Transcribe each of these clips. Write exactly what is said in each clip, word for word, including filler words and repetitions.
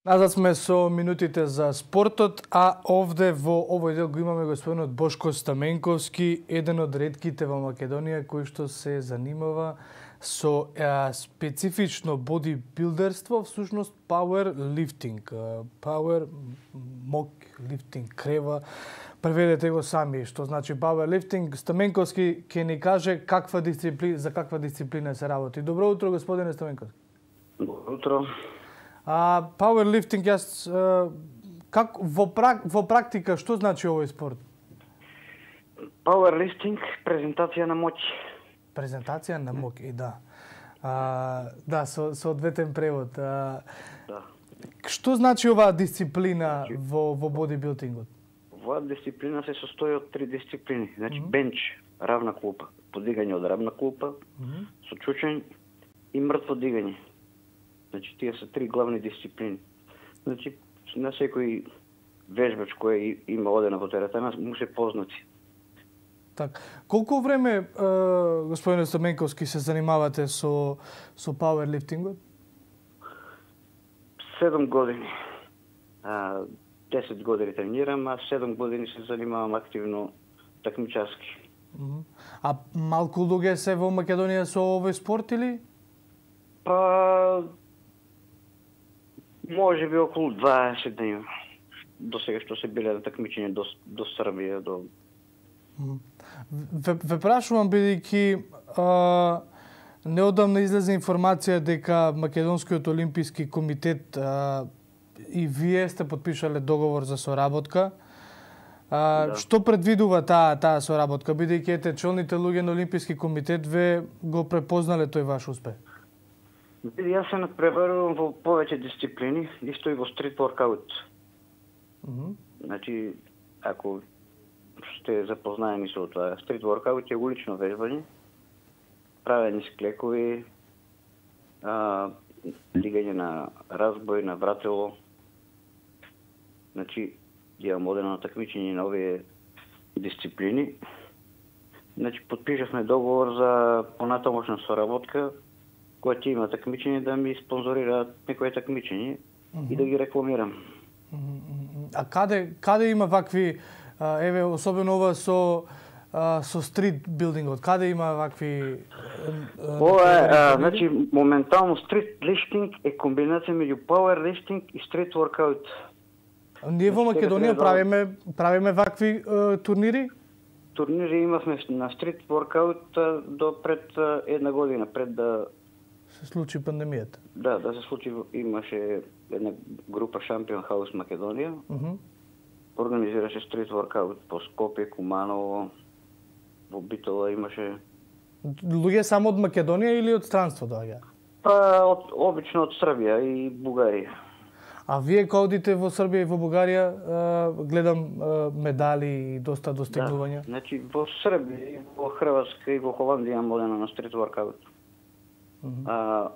Назад сме со минутите за спортот, а овде во овој дел го имаме господинот Бошко Стаменковски, еден од ретките во Македонија кој што се занимава со а, специфично бодибилдерство, всушност power lifting, power мок лифтинг, крева. Преведете го сами што значи power lifting. Стаменковски ќе ни каже каква дисциплина, за каква дисциплина се работи. Добро утро, господине Стаменковски. Добро утро. А пауерлифтинг, јас как во прак, во практика што значи овој спорт? Пауерлифтинг, презентација на моќ. Презентација на моќ, и да. А, да, со соодветен превод. А, да. Што значи оваа дисциплина во во бодибилдингот? Оваа дисциплина се состои од три дисциплини. Значи mm -hmm. бенч, равна клупа, подигање од равна клупа, mm -hmm. со чучење и мртво дигање. Значи, тие се три главни дисциплини. Значи, на секој вежбач кој има одена во теретана, му се познати. Так. Колку време, е, господине Стаменковски, се занимавате со, со пауерлифтингот? Седум години. А, десет години тренирам, а седум години се занимавам активно такмичарски. А малку луѓе се во Македонија со овој спорт или? Па... може би околу дваесет дни до сега што се биле на такмичење до, до Србија, до... Ве, ве прашувам бидејќи неодамна излезе информација дека Македонскиот олимписки комитет а, и вие сте подпишале договор за соработка. А, да. Што предвидува таа таа соработка, бидејќи ете челните луѓе на Олимписки комитет ве го препознале тој ваш успех? Јас се надпреварувам во повеќе дисциплини, исто и во стрит воркаут. Mm -hmm. Значи, ако сте запознаени со тоа, стрит воркаут е улично вежбање, правење склекови, а, лигање на разбој, на вратело. Значи, имам одено такмичење на овие дисциплини. Значи, подпишавме договор за понатамошна соработка, кој ќе има такмичење да ми спонзорираат некој такмичење mm -hmm. и да ги рекламирам. Mm -hmm. А каде каде има вакви, еве особено ова со со стрит билдингот, каде има вакви? Ова е, значи моментално стрит лифтинг е комбинација меѓу пауер лифтинг и стрит воркаут. Ние во Македонија правиме правиме вакви uh, турнири? Турнири имавме на стрит воркаут до пред една година, пред да се случи пандемијата. Да, да се случи, имаше една група Шампион Хаус Македонија. Uh -huh. Организираше стрит воркаут по Скопје, Куманово, во Битола имаше. Луѓе само од Македонија или од странство доаѓа? Па од обично од Србија и Бугарија. А вие кога одите во Србија и во Бугарија, гледам медали и доста достигнувања. Да, значи во Србија, во Хрватска и во Холандија имам одено на стрит воркаут. Uh -huh. А,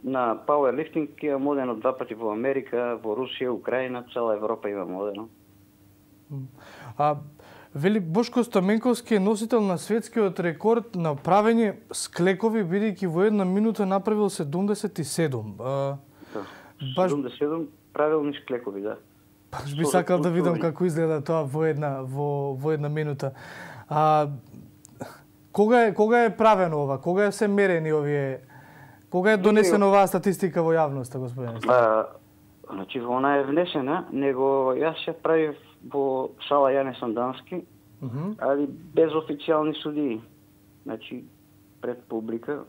на пауерлифтинг имам одено два пати во Америка, во Русија, Украина, цела Европа имам одено. А вели Бошко Стаменковски е носител на светскиот рекорд на правење склекови, бидејќи во една минута направил седумдесет и седум. А, да, баш... седумдесет и седум правилни склекови, да. Баш би сакал да видам како изгледа тоа во една во во една минута. А Кога е, кога е правено ова? Кога се мерени овие? Кога е донесена оваа статистика во јавноста, господине? А, значи, она е внесена, него јас ја правив во сала Јане Сандански, uh -huh. али без официјални судии. Значи, пред публика.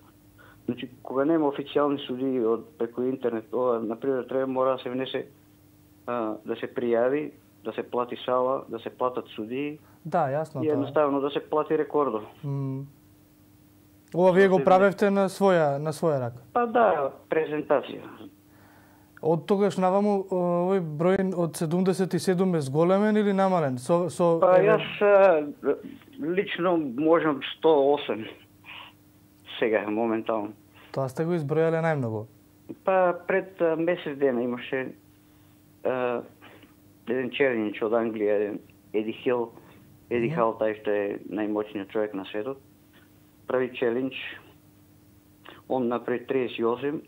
Значи, кога нема официјални судии од преку интернет, ова, например, треба мора да се внесе, а, да се пријави, да се плати сала, да се платат судии. Да, јасно. И едноставно да се плати рекордо. Mm. Ова вие го правевте на своја на своја рака? Па да, презентација. Од тогаш наваму овој број од седумдесет и седум е зголемен или намален? Со со Па јас лично можам сто и осем сега моментално. Тоа сте го избројале најмногу. Па пред месец дена имаше а, еден чернич од Англија, еден Еди Хил, Еди Хал, тај што е најмоćниот човек на светот, прави челендж. Он направи триесет и осем,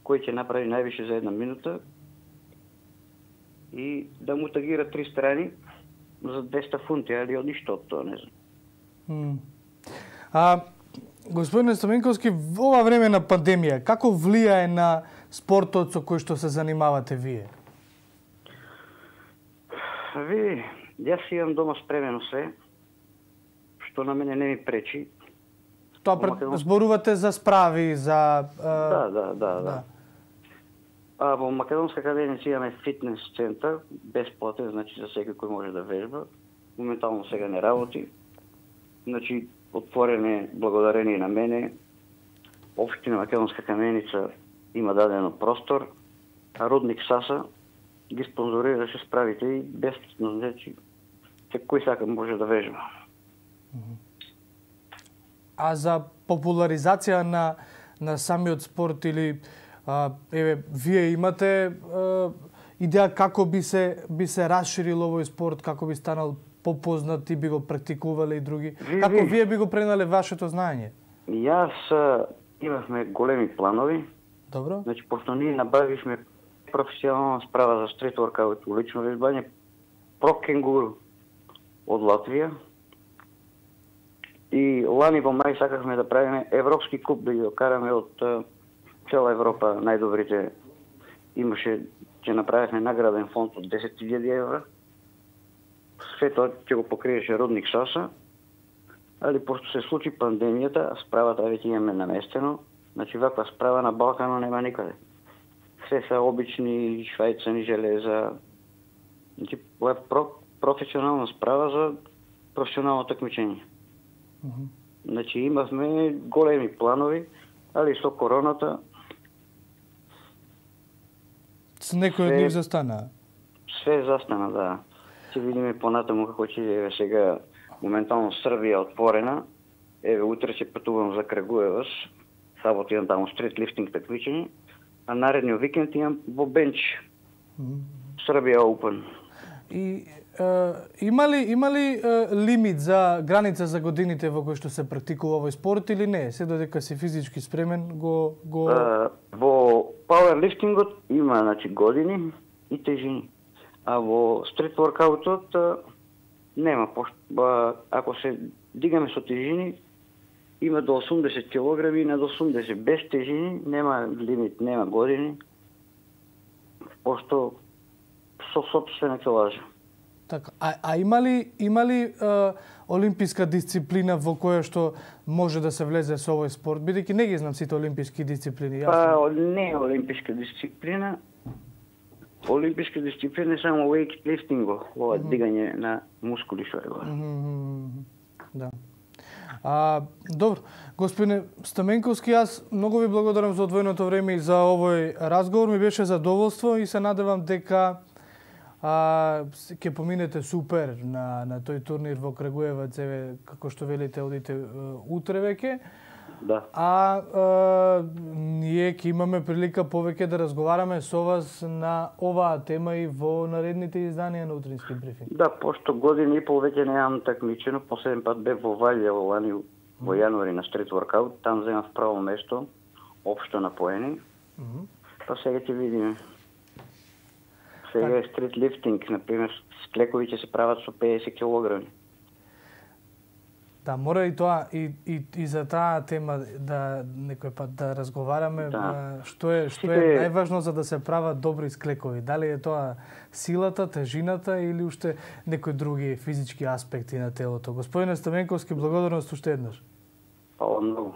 кој ќе направи највише за една минута и да му тагира три страни за двеста фунти, али од ништо од тоа, не знам. Mm. А, господине Стаменковски, во ова време на пандемија, како влијае на спортот со кој што се занимавате вие? Ви, јас имам дома спремено се, што на мене не ми пречи. Тоа пред... Македон... зборувате за справи, за... Uh... Да, да, да, да. да. А во Македонска академија имаме фитнес центар, бесплатен, значи за секој кој може да вежба. Моментално сега не работи. Значи, отворен е благодарение на мене. Општина Македонска каменица има дадено простор, а Рудник Саса ги спонзорираше справите и бесплатно, значи кој сака може да вежба. А за популаризација на на самиот спорт или а, еве вие имате а, идеја како би се би се расширил овој спорт, како би станал попознат и би го практикувале и други? Ви, како ви. вие би го пренале вашето знаење? Јас имавме големи планови. Добро. Значи, пошто ние набавивме професионална справа за стрит воркаут, улично вежбање, Про Кенгуру од Латвија. И лани во мај сакавме да правиме европски куп, да ги докараме од цела Европа најдобрите. Имаше, ќе направивме награден фонд од десет илјади евра. Све тоа ќе го покриеше Рудник Саса. Али пошто се случи пандемијата, справата веќе имаме наместено. Значи, ваква справа на Балкана нема никаде. Се се обични швајцани железа. Значи, ова е про, професионална справа за професионално такмичење. Uh -huh. Значи, имавме големи планови, али со короната... С некој од нив застана? Све застана, да. Ќе видиме понатаму како ќе еве сега моментално Србија отворена. Еве, утре ќе патувам за Крагуевас. Сабота имам таму стрит лифтинг такмичење, а наредниот викенд имам во Бенч. Mm -hmm. Србија Open. И е, има ли има ли е, лимит за граница за годините во кои што се практикува овој спорт или не? Се додека си физички спремен го го е, во пауерлифтингот има значи години и тежини. А во стрит воркаутот нема, пошто ако се дигаме со тежини има до осумдесет килограми, над осумдесет без тежини, нема лимит, нема години, пошто со сопствена килажа. Така, а, а има ли, има ли е, олимписка дисциплина во која што може да се влезе со овој спорт? Бидејќи не ги знам сите олимписки дисциплини. Па, не е олимписка дисциплина. Олимписка дисциплина е само weightlifting, ова mm -hmm. дигање на мускули што е ова. Mm -hmm. Да. А, добро, господине Стаменковски, јас многу ви благодарам за одвоеното време и за овој разговор. Ми беше задоволство и се надевам дека а, ќе поминете супер на, на тој турнир во Крагуевац, еве, како што велите, одите утре веќе. Да. А, а ние ќе имаме прилика повеќе да разговараме со вас на оваа тема и во наредните изданија на утрински брифинг. Да, пошто година и пол веќе немам такмичено, последен пат бев во Валја во лани во јануари на стрит воркаут, там земав право место, општо на поени. Mm -hmm. Па сега ќе видиме. Сега е стрит лифтинг, например, склекови ќе се прават со педесет килограми. Да, мора и тоа и, и, и за таа тема да некој пат да разговараме, да. што е што е најважно за да се прават добри склекови. Дали е тоа силата, тежината или уште некои други физички аспекти на телото. Господине Стаменковски, благодарност уште еднаш. Фала многу.